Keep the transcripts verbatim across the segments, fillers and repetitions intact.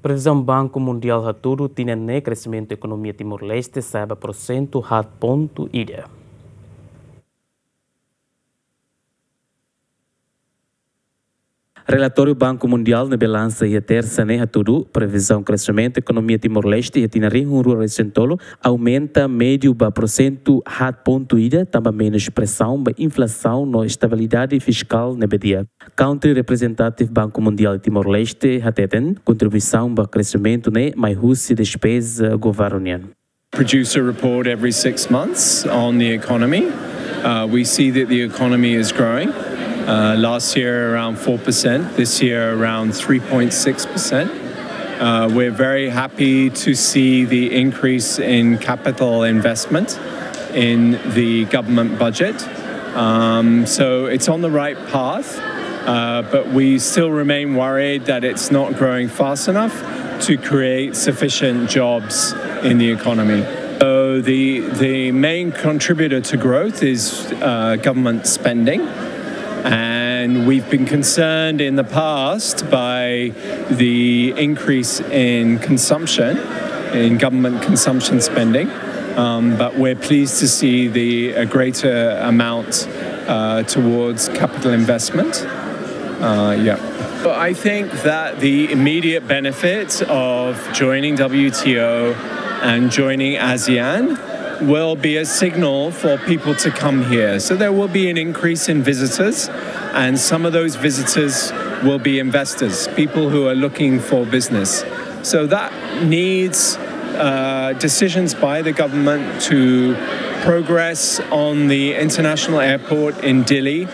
Previzaun Banku Mundiál hatudu tinan ne'e kreximentu ekonomia Timor-Leste sa'e ba porsentu haat pontu ida. Relatóriu Banku Mundiál ne'ebé lansa iha Tersa ne'e hatudu, previzaun kreximentu ekonomia Timor-Leste iha tinan rihun rua resin tolu aumenta médiu ba porsentu haat pontu ida, tanba menus presaun ba inflasaun no estabilidade fiskál ne'ebé di'ak. Country Representative Banku Mundiál Timor-Leste hateten, kontribuisaun ba kreximentu ne'e mai husi despeza governu nian. Produce a report every six months on the economy. Uh, we see that the economy is growing. Uh, last year, around four percent. This year, around three point six percent. Uh, we're very happy to see the increase in capital investment in the government budget. Um, so it's on the right path, uh, but we still remain worried that it's not growing fast enough to create sufficient jobs in the economy. So the, the main contributor to growth is uh, government spending, and we've been concerned in the past by the increase in consumption, in government consumption spending, um, but we're pleased to see the a greater amount uh, towards capital investment. Uh, yeah. But I think that the immediate benefits of joining W T O and joining ASEAN will be a signal for people to come here. So there will be an increase in visitors, and some of those visitors will be investors, people who are looking for business. So that needs uh, decisions by the government to progress on the international airport in Dili,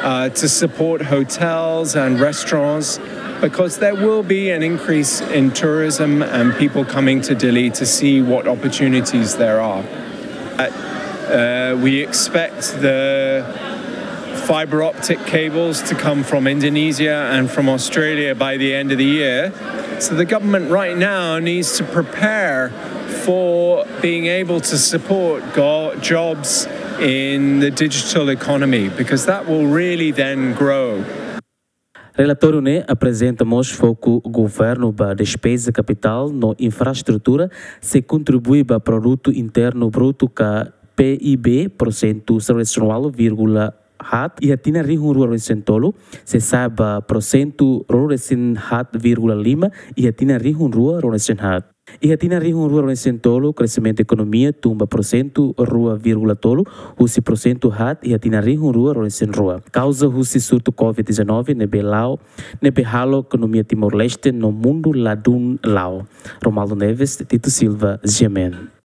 uh, to support hotels and restaurants, because there will be an increase in tourism and people coming to Dili to see what opportunities there are. Uh, we expect the fiber optic cables to come from Indonesia and from Australia by the end of the year. So the government right now needs to prepare for being able to support go- jobs in the digital economy, because that will really then grow. Relatóriu ne'e aprezenta mós foku governu ba despeza kapitál no infraestrutura, sei kontribui ba Produtu Internu Brutu ka P I B porsentu zero resin ualu vírgula haat iha tinan rihun rua resin tolu, sei sa'e ba porsentu rua resin haat vírgula lima iha tinan rihun rua rua resin haat. Iha tinan rihun rua resin tolu, kreximentu ekonomia tun ba porsentu rua vírgula tolu, husi porsentu haat iha tinan rihun rua resin rua. Kauza husi surtu Covid dezanove ne'ebé la'o, ne'ebé halo ekonomia Timor-Leste no mundu ladún la'o. Romualdo Neves, Tito Silva, G M N.